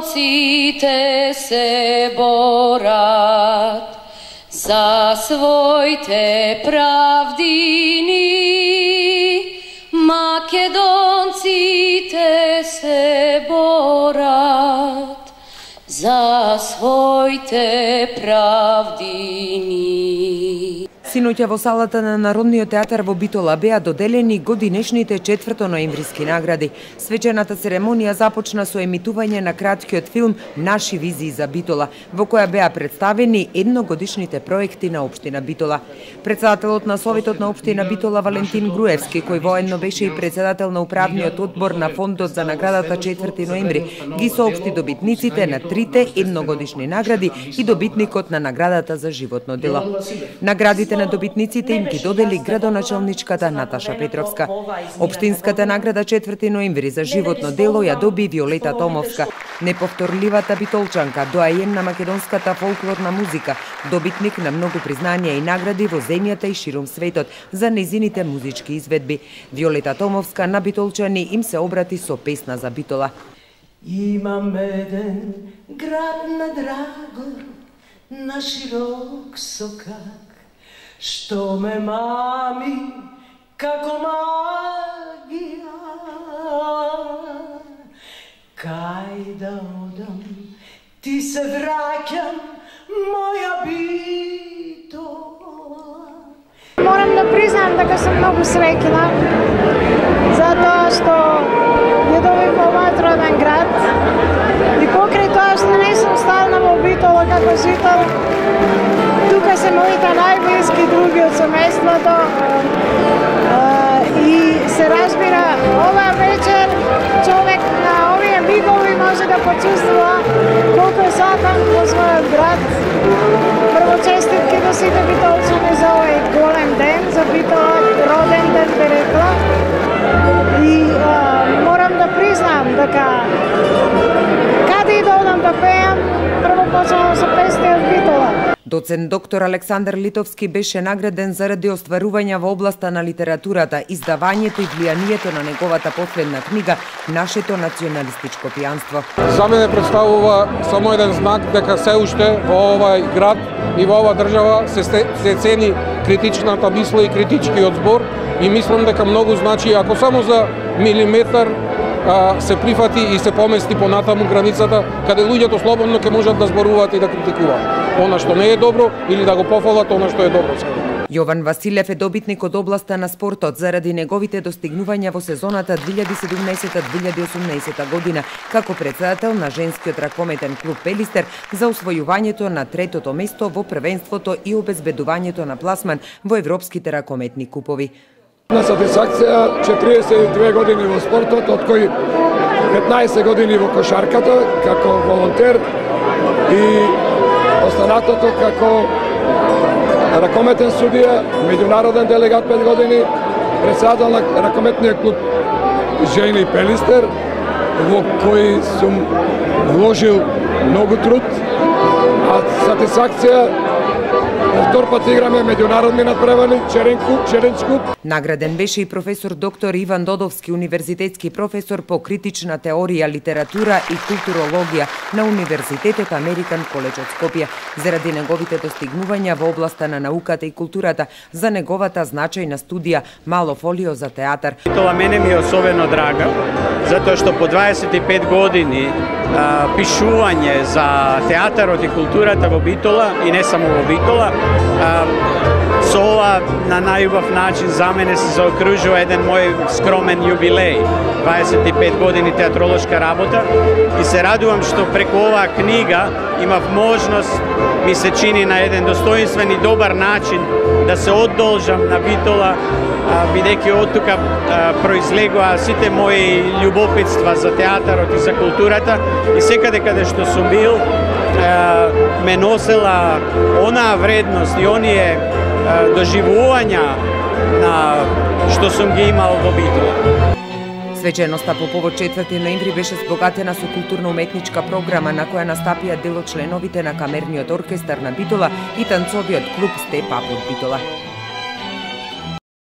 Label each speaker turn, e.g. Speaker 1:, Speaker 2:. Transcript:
Speaker 1: македонците се борат за своите правдини. Македонците се борат за своите правдини.
Speaker 2: Синоќа во салата на Народниот театар во Битола беа доделени годинешните 4 ноемвриски награди. Свечената церемонија започна со емитување на краткиот филм Наши визии за Битола, во која беа представени едногодишните проекти на општина Битола. Председателот на Советот на општина Битола Валентин Груевски, кој воедно беше и председател на управниот одбор на фондот за наградата 4 ноември, ги соопшти добитниците на трите едногодишни награди и добитникот на наградата за животно дело. Наградите на добитниците им ги додели градоначалничката Наташа Петровска. Општинската награда 4 ноември за животно дело ја доби Виолета Томовска, неповторливата битолчанка, доајен на македонската фолклорна музика, добитник на многу признања и награди во земјата и ширум светот за незините музички изведби. Виолета Томовска на битолчани им се обрати со песна за Битола.
Speaker 3: Имам еден град на Драгор, на широк сокак, што ме мами како магија. Кај да одам, ти се враќам, моја Битола.
Speaker 4: Морам да признам дека сум многу среќна, затоа што ја добив овој роден град и покрај тоа што не сум стална во Битола како жител, тука се моите најблиски други од семејството и се разбира, оваа вечер човек на овие мигови може да почувствува колку е сакан во својот град. Прво честитки до сите битолчани за овој голем ден, за Битола роден ден би рекла. И морам да признам дека каде и да одам да пеам, прво почнувам со песни од Битола.
Speaker 2: Доцент доктор Александар Литовски беше награден заради остварувања во областа на литературата, издавањето и влијанието на неговата последна книга Нашето националистичко пијанство.
Speaker 5: За мене представува само еден знак дека се уште во овај град и во оваа држава се цени критичната мисла и критичкиот збор и мислам дека многу значи ако само за милиметар се прифати и се помести понатаму границата, каде луѓето слободно ќе можат да зборуваат и да критикуваат она што не е добро или да го пофалат она што е добро.
Speaker 2: Јован Василев е добитник од областа на спортот заради неговите достигнувања во сезоната 2017-2018 година како председател на женскиот ракометен клуб Пелистер за усвојувањето на третото место во првенството и обезбедувањето на пласман во европските ракометни купови.
Speaker 6: На сатисфакција 42 години во спортот, од кои 15 години во кошарката како волонтер и останатото како ракометен судија, меѓународен делегат 5 години, председател на ракометниот клуб Жени Пелистер, во кој сум вложил многу труд, а сатисфакција втор пат играме меѓународни надпревари, Черенчкуп.
Speaker 2: Награден беше и професор доктор Иван Додовски, универзитетски професор по критична теорија, литература и културологија на Универзитетот Американ Коледж од Скопје, заради неговите достигнувања во областа на науката и културата, за неговата значајна студија Мало фолио за театар.
Speaker 7: Тоа мене ми е особено драга, затоа што по 25 години пишување за театарот и културата во Битола и не само во Битола, со ова на најубав начин за мене се заокружува еден мој скромен јубилеј, 25 години театролошка работа и се радувам што преку оваа книга имав можност, ми се чини на еден достоинствен и добар начин да се одолжам на Битола, бидејќи од тука произлегува сите мои љубопитства за театарот и за културата и секаде каде што сум бил ме носела онаа вредност и оние доживувања на што сум ги имал во Битола.
Speaker 2: Свеченоста по повод 4 ноември беше збогатена со културно-уметничка програма на која настапија дел од членовите на камерниот оркестар на Битола и танцовиот клуб Степ Ап од Битола.